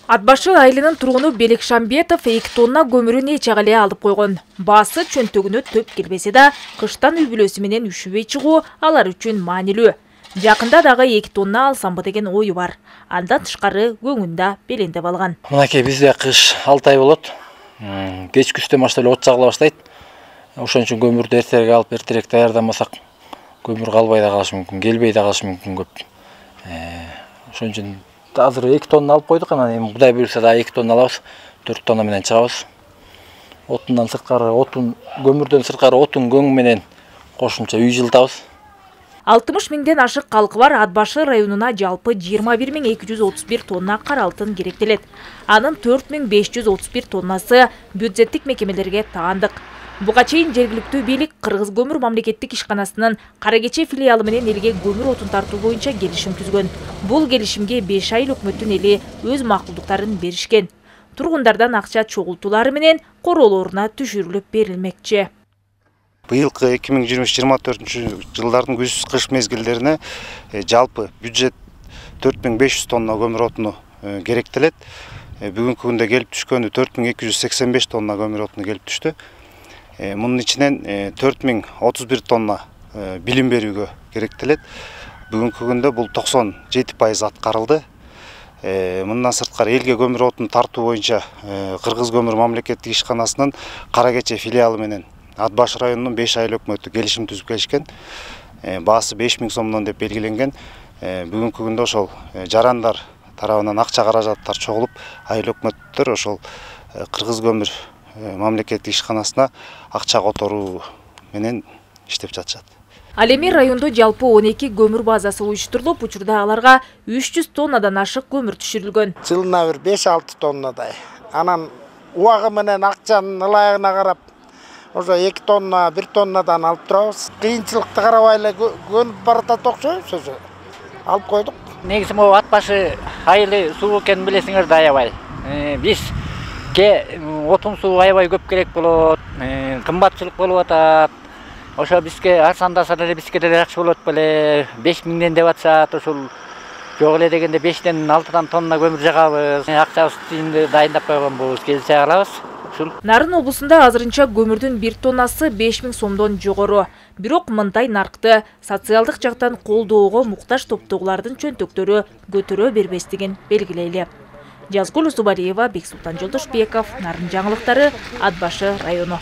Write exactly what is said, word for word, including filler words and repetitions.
Ат башы айылынын тургуну Белек Шамбетов эки тонна көмүрүн эч эле алып койгон. Баасы чөнтөгүнө төп келбесе да, кыштан үй бүлөсү менен үшүбөй чыгуу алар үчүн маанилүү. Жакында дагы эки тонна алсамбы деген ою бар. Андан тышкары көңүндө белендеп алган. Мынакей бизде кыш алты ай болот. Кечкүстөн баштап эле от жагыла баштайт. Ошон үчүн көмүрдү эртерээк алып, эртерээк даярдамасак, көмүр калбай да калышы мүмкүн, келбей да калышы мүмкүн көп. Ошон үчүн азыр эки тонна алып койдук, анан эми Кудай буйрса да эки тонна алабыз, төрт тонна менен чыгабыз. Отундан сырткары, отун, көмүрдөн сырткары отун көң менен кошумча үй жылытабыз. алтымыш миңден ашык калкы бар Ат башы районуна жалпы жыйырма бир миң эки жүз отуз бир тонна кара алтын керектелет. Анын төрт миң беш жүз отуз бир тоннасы бюджеттик мекемелерге таандык. Буга чейин жергиликтүү бийлик Кыргыз көмүр мамлекеттик ишканасынын Кара Кече филиалы менен элге көмүр отун тартуу боюнча келишим түзгөн. Бул келишимге беш айыл өкмөттүн эли өз макулдуктарын беришкен. Тургундардан акча чогултуулары менен короолоруна түшүрүлүп берилмекчи. Быйылкы эки миң жыйырма үч жыйырма төртүнчү жылдардын күз кыш мезгилдерине жалпы бюджет төрт миң беш жүз тонна көмүр отуну керектелет. Бүгүнкү күндө келип түшкөнү төрт миң эки жүз сексен беш тонна көмүр отуну келип түштү. Мунун ичинен төрт миң отуз бир тонна билим берүүгө керектелет. Бүгүнкү күндө бул токсон жети пайыз аткарылды. Мындан сырткары элге көмүр отуну тартуу боюнча Кыргыз көмүр мамлекеттик ишканасынын Кара Кече филиалы менен Ат башы районунун беш айыл өкмөтү келишим түзүп келишкен. Баасы беш миң сомдон деп белгиленген. Бүгүнкү күндө ошол жарандар тарабынан акча каражаттар чогулуп, айыл өкмөттөр ошол Кыргыз көмүр мамлекеттик ишканасына акча которуу менен иштеп жатышат. Ал эми райондо жалпы он эки көмүр базасы уюштурулуп, учурда аларга үч жүз тоннадан ашык көмүр түшүрүлгөн. Жылына бир беш алты тоннадай. Анан убагы менен акчанын ылайыгына карап ошо эки тонна, бир тоннадан алып турабыз. Кыйынчылыкты карабай эле көнүп баратат окшойбуз өзү. Алып койдук. Негизи могу Ат башы айылы суу экенин билесиңер да аябай. Биз ке отун суу аябай көп керек болот, кымбатчылык болуп атат. Ошо бизге арзандаса деле бизге деле жакшы болот беле. беш миңден деп атышат, ошол жок эле дегенде бештен алтыдан тонна көмүр жагабыз. Акчабызды дайындап койгонбуз, келсе алабыз. Нарын облусунда азырынча көмүрдүн бир тоннасы беш миң сомдон жогору. Бирок мындай наркты социалдык жактан колдоого муктаж топтогулардын чөнтөктөрү көтөрө бербестигин белгилейли. Жазгул Усубалиева, Бексултан Жолдошбеков, Нарын жаңылыктары, Ат башы району.